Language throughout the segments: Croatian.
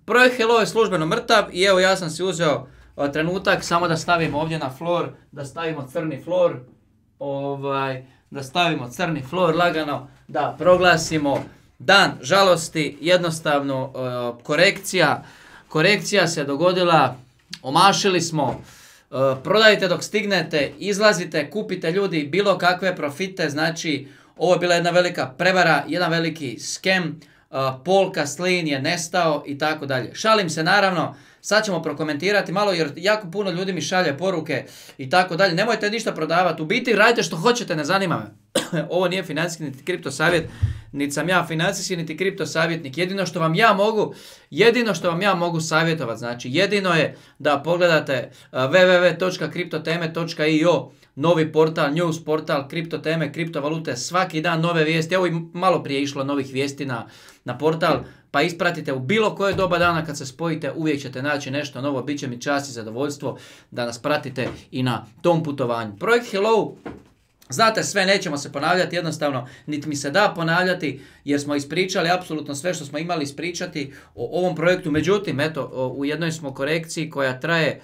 Projekt Hello je službeno mrtav i evo ja sam si uzeo trenutak samo da stavimo ovdje na floor, da stavimo crni floor, da stavimo crni floor lagano, da proglasimo dan žalosti, jednostavno korekcija se dogodila, omašili smo, prodajte dok stignete, izlazite, kupite ljudi bilo kakve profite, znači ovo je bila jedna velika prevara, jedan veliki skem, Paul Kaslin je nestao i tako dalje. Šalim se naravno, sad ćemo prokomentirati malo jer jako puno ljudi mi šalje poruke i tako dalje. Nemojte ništa prodavati, u biti radite što hoćete, ne zanima me. Ovo nije financijski niti kripto savjet, niti sam ja financijski niti kripto savjetnik. Jedino što vam ja mogu savjetovati, znači jedino je da pogledate www.kriptoteme.io, novi portal, news portal, kriptoteme, kriptovalute, svaki dan nove vijesti. Evo i malo prije išlo novih vijesti na portal, pa ispratite u bilo koje doba dana kad se spojite, uvijek ćete naći nešto novo, bit će mi čast i zadovoljstvo da nas pratite i na tom putovanju. Projekt Hello, znate sve, nećemo se ponavljati, jednostavno niti mi se da ponavljati jer smo ispričali apsolutno sve što smo imali ispričati o ovom projektu. Međutim, eto, u jednoj smo korekciji koja traje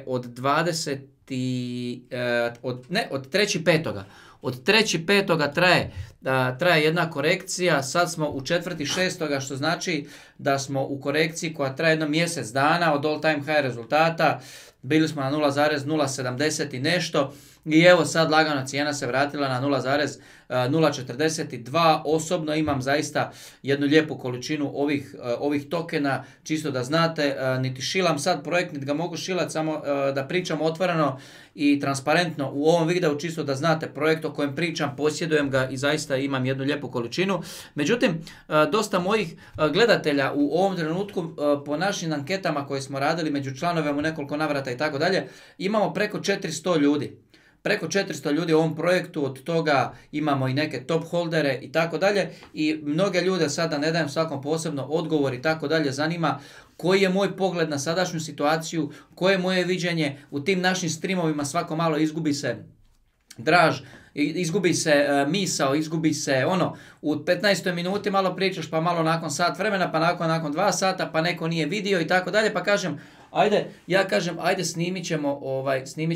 od 3.5. Od 3.5. traje jedna korekcija, sad smo u 4.6. što znači da smo u korekciji koja traje jedno mjesec dana od all time high rezultata. Bili smo na 0,070 i nešto i evo sad lagano cijena se vratila na 0,042. Osobno imam zaista jednu lijepu količinu ovih tokena, čisto da znate, niti šilam sad projekt, niti ga mogu šilati, samo da pričam otvoreno i transparentno u ovom videu, čisto da znate projekt o kojem pričam, posjedujem ga i zaista imam jednu lijepu količinu. Međutim, dosta mojih gledatelja u ovom trenutku po našim anketama koje smo radili među članovima u nekoliko navrata i tako dalje, imamo preko 400 ljudi. Preko 400 ljudi u ovom projektu, od toga imamo i neke top holdere i tako dalje i mnoge ljude sada ne dajem svakom posebno odgovor i tako dalje, zanima koji je moj pogled na sadašnju situaciju, koje je moje viđenje. U tim našim streamovima svako malo izgubi se draž, izgubi se misao, izgubi se u 15. minuti malo pričaš, pa malo nakon sat vremena, pa nakon 2 sata, pa neko nije vidio i tako dalje, pa kažem, ajde snimit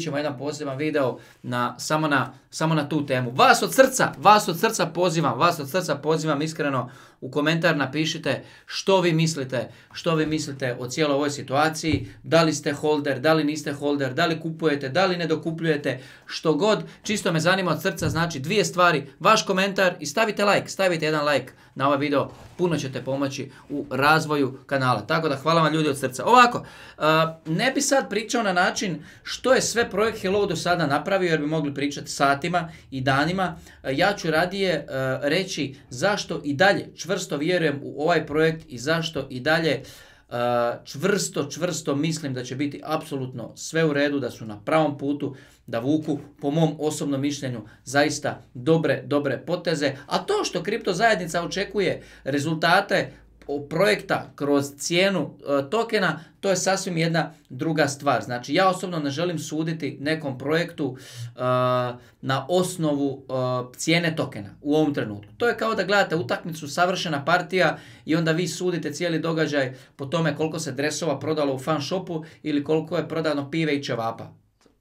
ćemo jedan poseban video samo na tu temu. Vas od srca pozivam iskreno u komentar napišite što vi mislite o cijeloj ovoj situaciji, da li ste holder, da li niste holder, da li kupujete, da li ne dokupljujete, što god, čisto me zanima od srca, znači dvije stvari, vaš komentar i stavite jedan like na ovaj video, puno ćete pomoći u razvoju kanala, tako da hvala vam ljudi od srca. Ovako, ne bi sad pričao na način što je sve projekt Hello do sada napravio jer bi mogli pričati satima i danima, ja ću radije reći zašto i dalje čvrsto vjerujem u ovaj projekt i zašto i dalje čvrsto mislim da će biti apsolutno sve u redu, da su na pravom putu, da vuku po mom osobnom mišljenju zaista dobre poteze. A to što kripto zajednica očekuje rezultate projekta kroz cijenu tokena, to je sasvim jedna druga stvar. Znači ja osobno ne želim suditi nekom projektu na osnovu cijene tokena u ovom trenutku. To je kao da gledate utakmicu, savršena partija i onda vi sudite cijeli događaj po tome koliko se dresova prodalo u fan shopu ili koliko je prodano pive i ćevapa.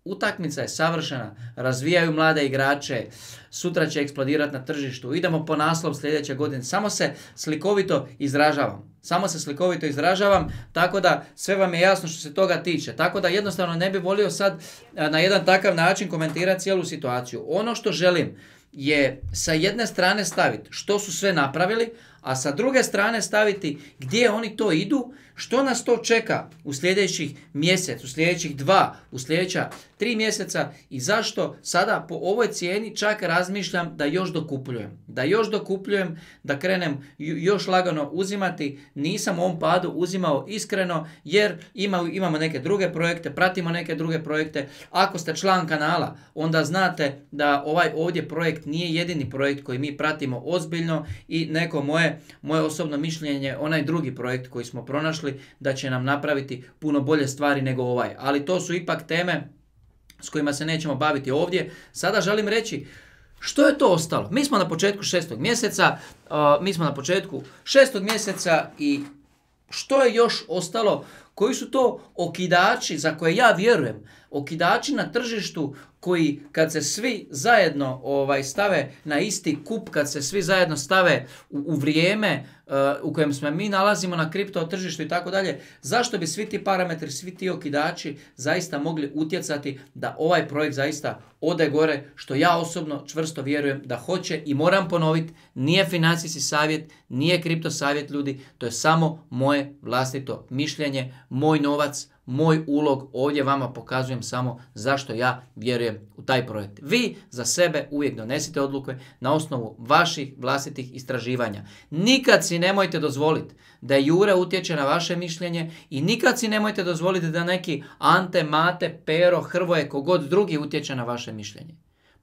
Utakmica je savršena, razvijaju mlade igrače, sutra će eksplodirati na tržištu, idemo po naslov sljedeće godine, samo se slikovito izražavam, tako da sve vam je jasno što se toga tiče, tako da jednostavno ne bi volio sad na jedan takav način komentirati cijelu situaciju. Ono što želim je sa jedne strane staviti što su sve napravili, a sa druge strane staviti gdje oni to idu, što nas to čeka u sljedećih mjesec, u sljedećih 2, u sljedeća 3 mjeseca i zašto sada po ovoj cijeni čak razmišljam da još dokupljujem, da krenem još lagano uzimati. Nisam u ovom padu uzimao iskreno jer imamo neke druge projekte, pratimo neke druge projekte. Ako ste član kanala, onda znate da ovaj ovdje projekt nije jedini projekt koji mi pratimo ozbiljno i neko moje osobno mišljenje, onaj drugi projekt koji smo pronašli, da će nam napraviti puno bolje stvari nego ovaj. Ali to su ipak teme s kojima se nećemo baviti ovdje. Sada želim reći što je to ostalo. Mi smo na početku 6. mjeseca i Što je još ostalo? Koji su to okidači za koje ja vjerujem? Okidači na tržištu koji kad se svi zajedno stave na isti kup, kad se svi zajedno stave u vrijeme u kojem se mi nalazimo na kripto tržištu i tako dalje, zašto bi svi ti parametri, svi ti okidači zaista mogli utjecati da ovaj projekt zaista ode gore, što ja osobno čvrsto vjerujem da hoće i moram ponoviti, nije financijski savjet, nije kripto savjet ljudi, to je samo moje vlastito mišljenje, moj novac, moj ulog, ovdje vama pokazujem samo zašto ja vjerujem u taj projekt. Vi za sebe uvijek donesite odluke na osnovu vaših vlastitih istraživanja. Nikad si nemojte dozvoliti da Jure utječe na vaše mišljenje i nikad si nemojte dozvoliti da neki Ante, Mate, Pero, Hrvoje, kogod drugi utječe na vaše mišljenje.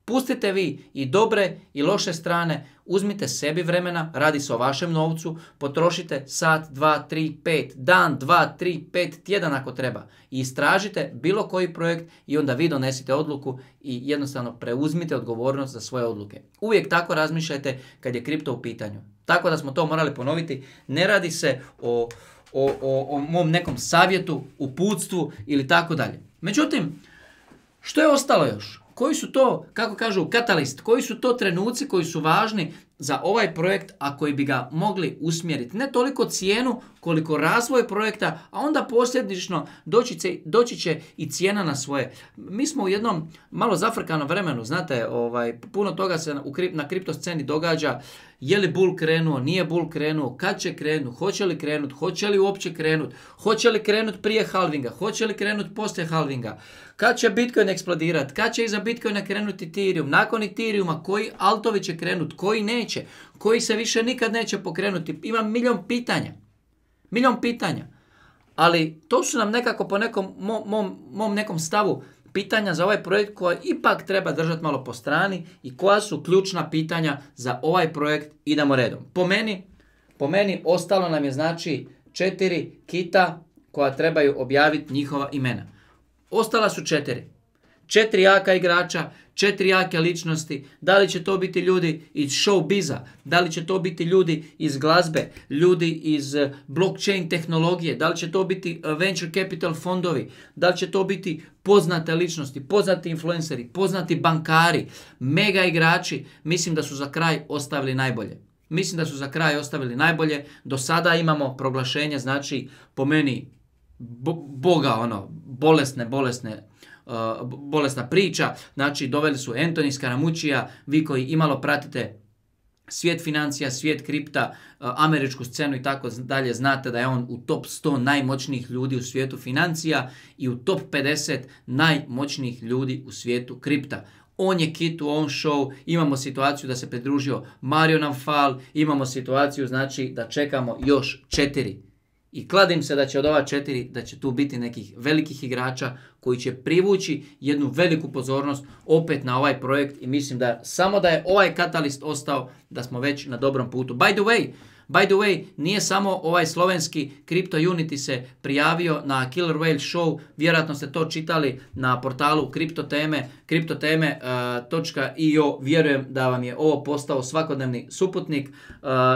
Pustite vi i dobre i loše strane, uzmite sebi vremena, radi se o vašem novcu, potrošite sat, 2, 3, 5, dan, 2, 3, 5 tjedan ako treba i istražite bilo koji projekt i onda vi donesite odluku i jednostavno preuzmite odgovornost za svoje odluke. Uvijek tako razmišljajte kad je kripto u pitanju. Tako da smo to morali ponoviti, ne radi se o mom nekom savjetu, uputstvu ili tako dalje. Međutim, što je ostalo još? Koji su to, kako kažu, katalist, koji su to trenuci koji su važni za ovaj projekt, a koji bi ga mogli usmjeriti? Ne toliko cijenu, koliko razvoj projekta, a onda posljedično doći će i cijena na svoje. Mi smo u jednom malo zafrkanom vremenu, znate, puno toga se na kripto sceni događa. Je li bull krenuo, nije bull krenuo, kad će krenuti, hoće li uopće krenuti, hoće li krenuti prije halvinga, hoće li krenuti poslije halvinga, kad će Bitcoin eksplodirati, kad će iza Bitcoina krenuti Ethereum, nakon Ethereuma koji altovi će krenuti, koji neće, koji se više nikad neće pokrenuti. Ima milion pitanja. Ali to su nam nekako po nekom mom nekom stavu pitanja za ovaj projekt koja ipak treba držati malo po strani i koja su ključna pitanja za ovaj projekt. Idemo redom. Po meni ostalo nam je znači 4 kita koja trebaju objaviti njihova imena. Ostala su 4. 4 jaka igrača, 4 jake ličnosti. Da li će to biti ljudi iz showbiza, da li će to biti ljudi iz glazbe, ljudi iz blockchain tehnologije, da li će to biti venture capital fondovi, da li će to biti poznate ličnosti, poznati influenceri, poznati bankari, mega igrači. Mislim da su za kraj ostavili najbolje. Do sada imamo proglašenje, znači po meni bolesna priča, znači doveli su Anthony Scaramuccia, vi koji imalo pratite svijet financija, svijet kripta, američku scenu i tako dalje, znate da je on u top 100 najmoćnijih ljudi u svijetu financija i u top 50 najmoćnijih ljudi u svijetu kripta. On je kit u own show, imamo situaciju da se pridružio Mario Naufal, imamo situaciju znači da čekamo još 4. I kladim se da će od ova 4, da će tu biti nekih velikih igrača koji će privući jednu veliku pozornost opet na ovaj projekt i mislim da samo da je ovaj katalist ostao, da smo već na dobrom putu. By the way, nije samo ovaj slovenski Crypto Unity se prijavio na Killer Whale Show, vjerojatno ste to čitali na portalu kriptoteme.io, vjerujem da vam je ovo postao svakodnevni suputnik,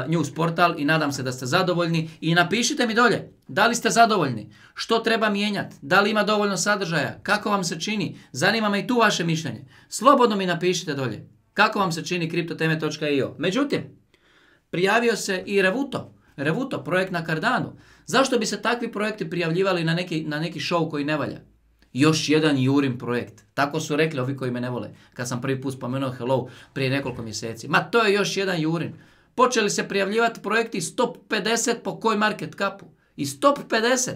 news portal i nadam se da ste zadovoljni i napišite mi dolje, da li ste zadovoljni, što treba mijenjati, da li ima dovoljno sadržaja, kako vam se čini, zanima me i tu vaše mišljenje. Slobodno mi napišite dolje, kako vam se čini kriptoteme.io. Međutim, prijavio se i Revuto, projekt na Cardanu. Zašto bi se takvi projekti prijavljivali na neki show koji ne valja? Još jedan Jurin projekt. Tako su rekli ovi koji me ne vole. Kad sam prvi put spomenuo Hello prije nekoliko mjeseci. Ma to je još jedan Jurin. Počeli se prijavljivati projekti iz top 50 po CoinMarketCapu. Iz top 50.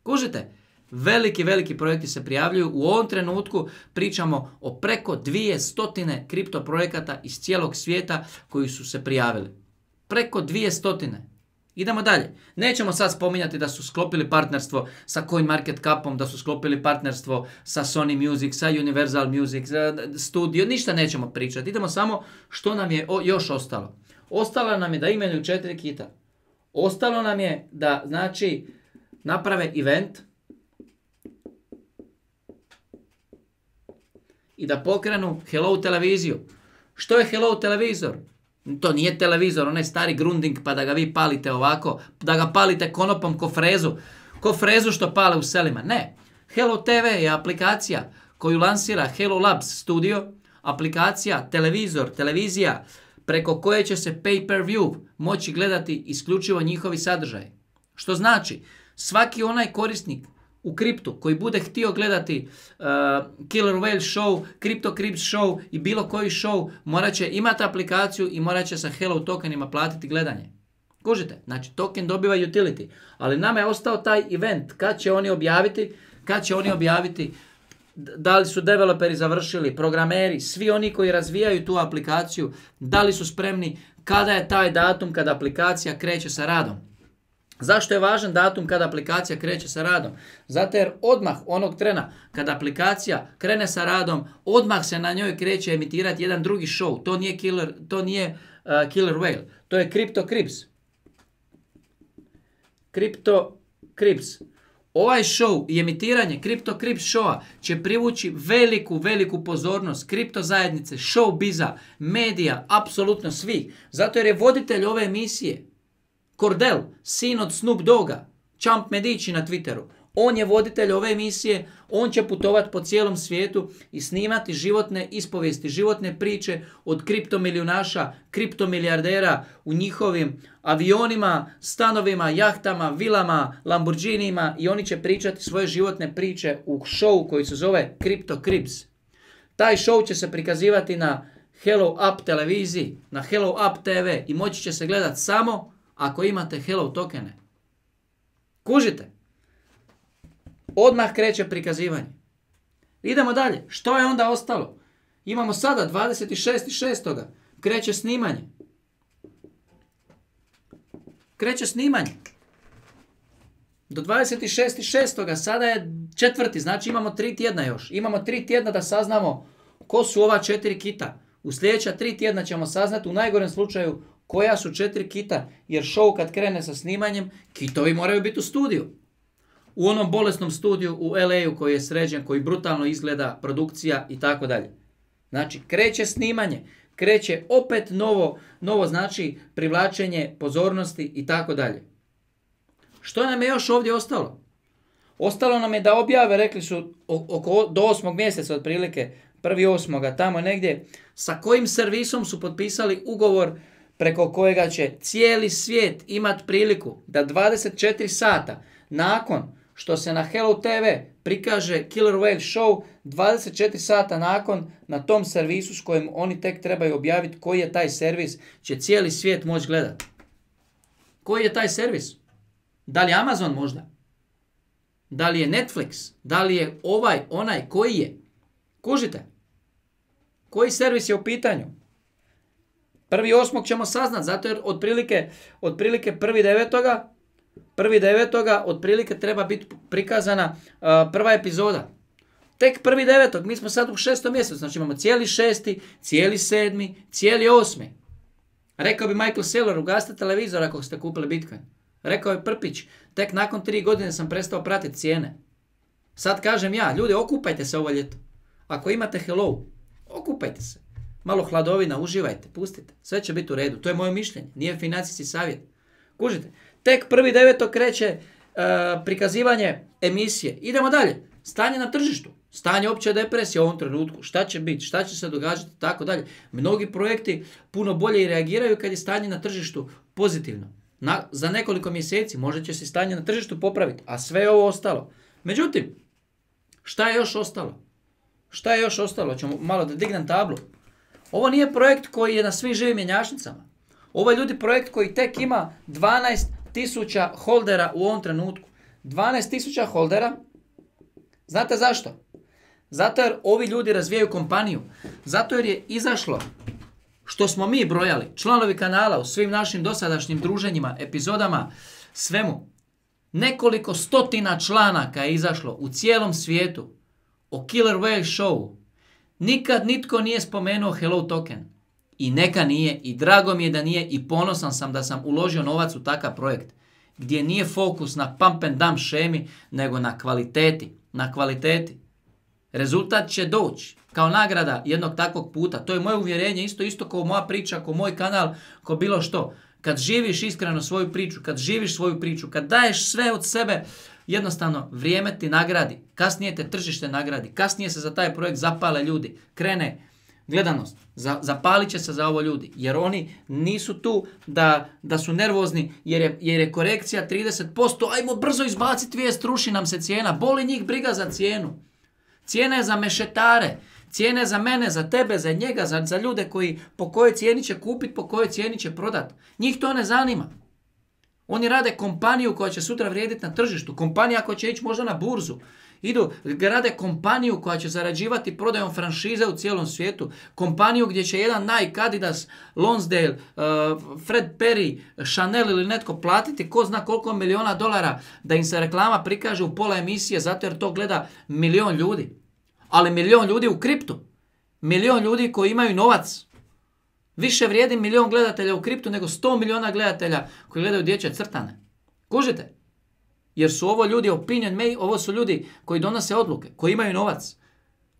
Kužite? Veliki projekti se prijavljuju. U ovom trenutku pričamo o preko 200 kripto projekata iz cijelog svijeta koji su se prijavili. Preko 200. Idemo dalje. Nećemo sad spominjati da su sklopili partnerstvo sa CoinMarketCapom, da su sklopili partnerstvo sa Sony Music, sa Universal Music, Studio, ništa nećemo pričati. Idemo samo što nam je još ostalo. Ostalo nam je da imenuju 4 kita. Ostalo nam je da, znači, naprave event i da pokrenu Hello televiziju. Što je Hello televizor? To nije televizor, onaj stari Grundig pa da ga vi palite ovako, da ga palite konopom ko frezu što pale u selima. Ne. Hello TV je aplikacija koju lansira Hello Labs Studio, aplikacija, televizija preko koje će se pay-per-view moći gledati isključivo njihovi sadržaji. Što znači, svaki onaj korisnik u kriptu koji bude htio gledati Killer Whale show, Crypto Crips show i bilo koji show, morat će imati aplikaciju i morat će sa Hello tokenima platiti gledanje. Kužite? Znači, token dobiva utility. Ali nama je ostao taj event. Kad će oni objaviti? Da li su developeri završili, programeri, svi oni koji razvijaju tu aplikaciju, da li su spremni, kada je taj datum kada aplikacija kreće sa radom. Zašto je važan datum kada aplikacija kreće sa radom? Zato jer odmah onog trena kada aplikacija krene sa radom, odmah se na njoj kreće emitirati jedan drugi show. To nije Killer Whale, to je Crypto Crips. Crypto Crips. Ovaj show i emitiranje Crypto Crips showa će privući veliku pozornost kripto zajednice, showbiza, medija, apsolutno svih. Zato jer je voditelj ove emisije Cordell, sin od Snoop Dogga, Champ Medici na Twitteru. On je voditelj ove emisije, on će putovati po cijelom svijetu i snimati životne ispovijesti, životne priče od kriptomilijunaša, kriptomilijardera u njihovim avionima, stanovima, jahtama, vilama, Lamborghinijima i oni će pričati svoje životne priče u showu koji se zove Crypto Crips. Taj show će se prikazivati na Hello Up televiziji, na Hello Up TV i moći će se gledati samo ako imate Hello tokene. Kužite? Odmah kreće prikazivanje. Idemo dalje. Što je onda ostalo? Imamo sada 26.6. Kreće snimanje. Do 26.6. sada je 4. Znači imamo 3 tjedna još. Imamo 3 tjedna da saznamo ko su ova 4 kita. U sljedeća 3 tjedna ćemo saznati u najgorem slučaju koja su 4 kita. Jer show kad krene sa snimanjem, kitovi moraju biti u studiju. U onom bolesnom studiju u LA-u koji je sređen, koji brutalno izgleda, produkcija i tako dalje. Znači, kreće snimanje, kreće opet novo znači privlačenje pozornosti i tako dalje. Što nam je još ovdje ostalo? Ostalo nam je da objave, rekli su do 8. mjeseca otprilike, 1.8. tamo negdje, sa kojim servisom su potpisali ugovor preko kojega će cijeli svijet imati priliku da 24 sata nakon što se na Hello TV prikaže Killer Whale show, 24 sata nakon na tom servisu s kojim oni tek trebaju objaviti koji je taj servis, će cijeli svijet moći gledati. Koji je taj servis? Da li je Amazon možda? Da li je Netflix? Da li je onaj, koji je? Kužite? Koji servis je u pitanju? 1.8. ćemo saznat, zato jer otprilike 1.9. otprilike treba biti prikazana prva epizoda. Tek 1.9. Mi smo sad u 6. mjesecu, znači imamo cijeli 6., cijeli 7., cijeli 8. Rekao bi Michael Saylor, ugasite televizor ako ste kupili Bitcoin. Rekao je Prpić, tek nakon 3 godine sam prestao pratiti cijene. Sad kažem ja, ljudi, okupajte se ovo ljeto. Ako imate Hello, okupajte se. Malo hladovina, uživajte, pustite. Sve će biti u redu. To je moje mišljenje. Nije financijski savjet. Kužite? Tek 1.9. kreće prikazivanje emisije. Idemo dalje. Stanje na tržištu. Stanje opće depresije u ovom trenutku. Šta će biti? Šta će se događati? Tako dalje. Mnogi projekti puno bolje i reagiraju kad je stanje na tržištu pozitivno. Za nekoliko mjeseci možda će se stanje na tržištu popraviti. A sve je ovo ostalo. Međutim, šta je još ostalo? Ćemo malo da dignem tablu. Ovo nije projekt koji je na svim živim mjenjačnicama. Ovo je ljudi projekt koji tek ima 12.000 holdera u ovom trenutku. 12.000 holdera. Znate zašto? Zato jer ovi ljudi razvijaju kompaniju. Zato jer je izašlo, što smo mi brojali, članovi kanala u svim našim dosadašnjim druženjima, epizodama, svemu. Nekoliko stotina članaka je izašlo u cijelom svijetu o Killer Whale showu. Nikad nitko nije spomenuo Hello token. I neka nije, i drago mi je da nije, i ponosan sam da sam uložio novac u takav projekt, gdje nije fokus na pump and dump šemi, nego na kvaliteti. Rezultat će doći kao nagrada jednog takvog puta. To je moje uvjerenje, isto kao moja priča, kao moj kanal, kao bilo što. Kad živiš iskreno svoju priču, kad živiš svoju priču, kad daješ sve od sebe, jednostavno vrijeme ti nagradi. Kasnije te tržište nagradi. Kasnije se za taj projekt zapale ljudi. Krene gledanost. Zapalit će se za ovo ljudi. Jer oni nisu tu da su nervozni jer je korekcija 30%. Ajmo brzo izbaciti vijest, ruši nam se cijena. Boli njih briga za cijenu. Cijena je za mešetare. Cijena je za mene, za tebe, za njega, za ljude koji po kojoj cijeni će kupiti, po kojoj cijeni će prodati. Njih to ne zanima. Oni rade kompaniju koja će sutra vrijediti na tržištu. Kompanija koja će ići možda na burzu. Rade kompaniju koja će zarađivati prodajom franšize u cijelom svijetu. Kompaniju gdje će jedan Nike, Adidas, Lonsdale, Fred Perry, Chanel ili netko platiti ko zna koliko milijuna dolara da im se reklama prikaže u pola emisije zato jer to gleda 1 milijun ljudi. Ali 1 milijun ljudi u kriptu. 1 milijun ljudi koji imaju novac. Više vrijedi 1 milijun gledatelja u kriptu nego 100 milijuna gledatelja koji gledaju dječje crtane. Kužite? Jer su ovo ljudi ovo su ljudi koji donose odluke, koji imaju novac.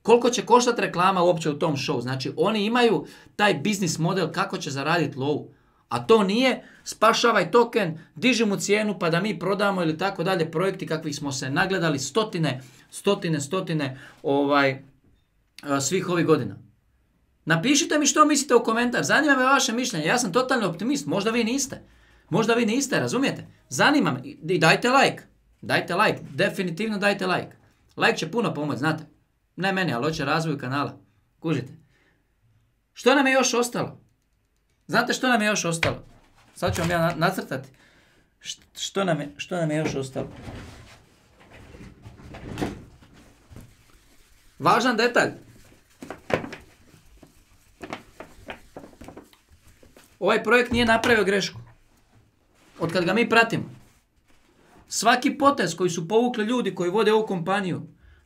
Koliko će koštati reklama uopće u tom show? Znači oni imaju taj biznis model kako će zaraditi lovu. A to nije spašavaj token, diži mu cijenu pa da mi prodamo ili tako dalje projekti kakvih smo se nagledali stotine svih ovih godina. Napišite mi što mislite u komentar, zanima me vaše mišljenje, ja sam totalni optimist, možda vi niste, razumijete? Zanima me i dajte like, definitivno dajte like. Like će puno pomoći, znate, ne meni, ali hoće razvoju kanala, kužite. Što nam je još ostalo? Znate što nam je još ostalo? Sad ću vam ja nacrtati. Što nam je još ostalo? Važan detalj. Ovaj projekt nije napravio grešku. Od kad ga mi pratimo. Svaki potez koji su povukli ljudi koji vode ovu kompaniju,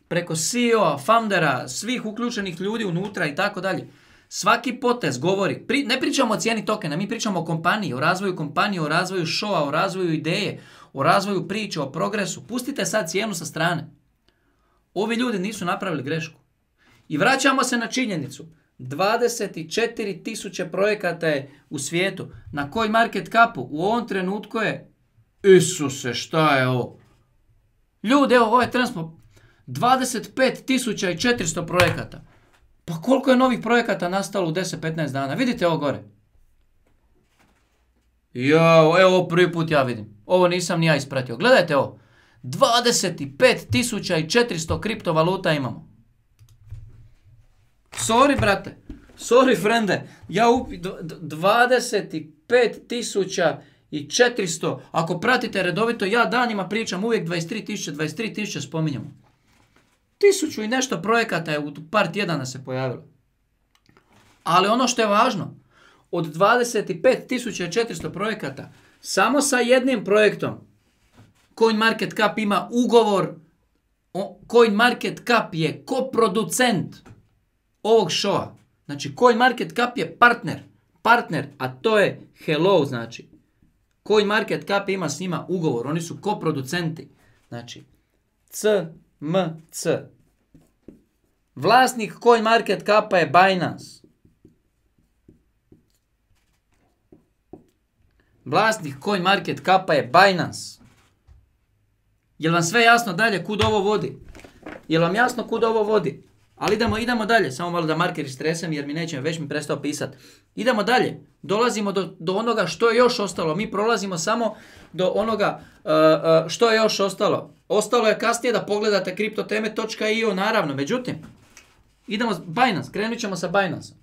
preko CEO-a, foundera, svih uključenih ljudi unutra i tako dalje, svaki potez govori, ne pričamo o cijeni tokena, mi pričamo o kompaniji, o razvoju kompanije, o razvoju showa, o razvoju ideje, o razvoju priče, o progresu. Pustite sad cijenu sa strane. Ovi ljudi nisu napravili grešku. I vraćamo se na činjenicu. 24.000 projekata je u svijetu. Na CoinMarketCapu u ovom trenutku je Isuse, šta je ovo? Ljudi, evo, ovaj tren smo 25.400 projekata. Pa koliko je novih projekata nastalo u 10-15 dana? Vidite ovo gore. Evo prvi put ja vidim. Ovo nisam ni ja ispratio. Gledajte ovo. 25.400 kriptovaluta imamo. Sorry, brate. Sorry, frende. 25.400. Ako pratite redovito, ja danima pričam uvijek 23.000 spominjamo. 1000 i nešto projekata je u par tjedana se pojavilo. Ali ono što je važno, od 25.400 projekata, samo sa jednim projektom CoinMarketCap ima ugovor. CoinMarketCap je koproducent ovog showa. Znači, CoinMarketCap je partner, a to je Hello, znači. CoinMarketCap ima s njima ugovor, oni su koproducenti. Znači, CMC. Vlasnik CoinMarketCapa je Binance. Vlasnik CoinMarketCapa je Binance. Jel vam sve jasno dalje kud ovo vodi? Jel vam jasno kud ovo vodi? Ali idemo dalje, samo malo da marker istresem jer već mi prestao pisati. Idemo dalje, dolazimo do onoga što je još ostalo. Mi prolazimo samo do onoga što je još ostalo. Ostalo je kasnije da pogledate kriptoteme.io naravno, međutim, idemo Binance, krenut ćemo sa Binance.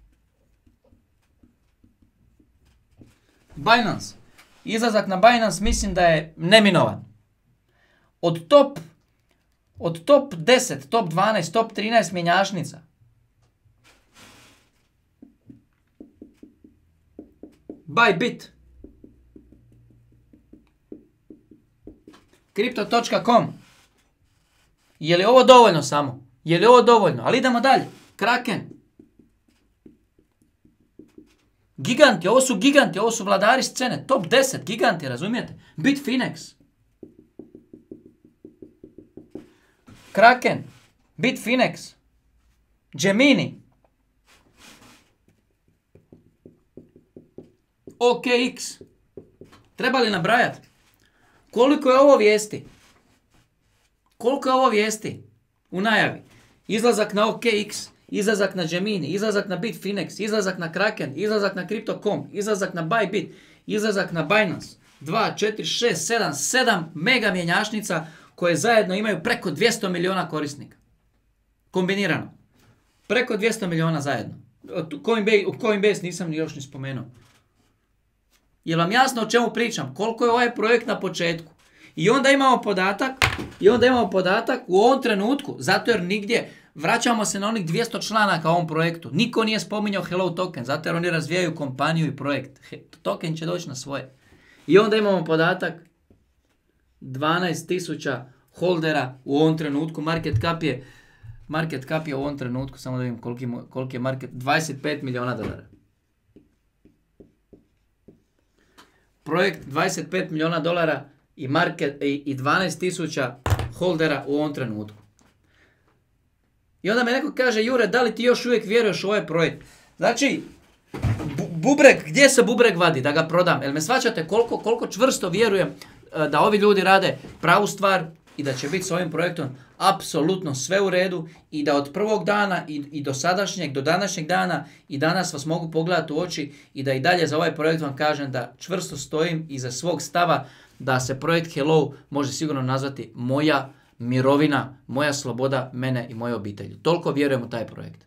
Binance, izlazak na Binance mislim da je neminovan. Od top 10, top 12, top 13 mjenjačnica. Bybit. Crypto.com. Je li ovo dovoljno samo? Je li ovo dovoljno? Ali idemo dalje. Kraken. Giganti, ovo su vladari scene. Top 10 giganti, razumijete? Bitfinex. Kraken, Bitfinex, Gemini. OKX. Treba li nabrajati? Koliko je ovo vijesti? Koliko je ovo vijesti u najavi? Izlazak na OKX, izlazak na Gemini, izlazak na Bitfinex, izlazak na Kraken, izlazak na Crypto.com, izlazak na Bybit, izlazak na Binance. 2, 4, 6, 7, 7 mega mjenjačnica koje zajedno imaju preko 200 miliona korisnika. Kombinirano. Preko 200 miliona zajedno. Coinbase nisam još ni spomenuo. Je vam jasno o čemu pričam? Koliko je ovaj projekt na početku? I onda imamo podatak u ovom trenutku, zato jer nigdje, vraćamo se na onih 200 članaka u ovom projektu. Niko nije spominjao Hello Token, zato jer oni razvijaju kompaniju i projekt. Token će doći na svoje. I onda imamo podatak 12.000 holdera u ovom trenutku. Market cap je u ovom trenutku, samo da vidim koliki je market, 25 miliona dolara. Projekt 25 miliona dolara i 12.000 holdera u ovom trenutku. I onda me neko kaže, Jure, da li ti još uvijek vjeruješ u ovaj projekt? Znači, bubreg, gdje se bubreg vadi da ga prodam? Jel me shvaćate koliko čvrsto vjerujem da ovi ljudi rade pravu stvar i da će biti s ovim projektom apsolutno sve u redu i da od prvog dana i do današnjeg dana i danas vas mogu pogledati u oči i da i dalje za ovaj projekt vam kažem da čvrsto stojim iza svog stava da se projekt Hello može sigurno nazvati moja mirovina, moja sloboda, mene i moje obitelji. Toliko vjerujem u taj projekt.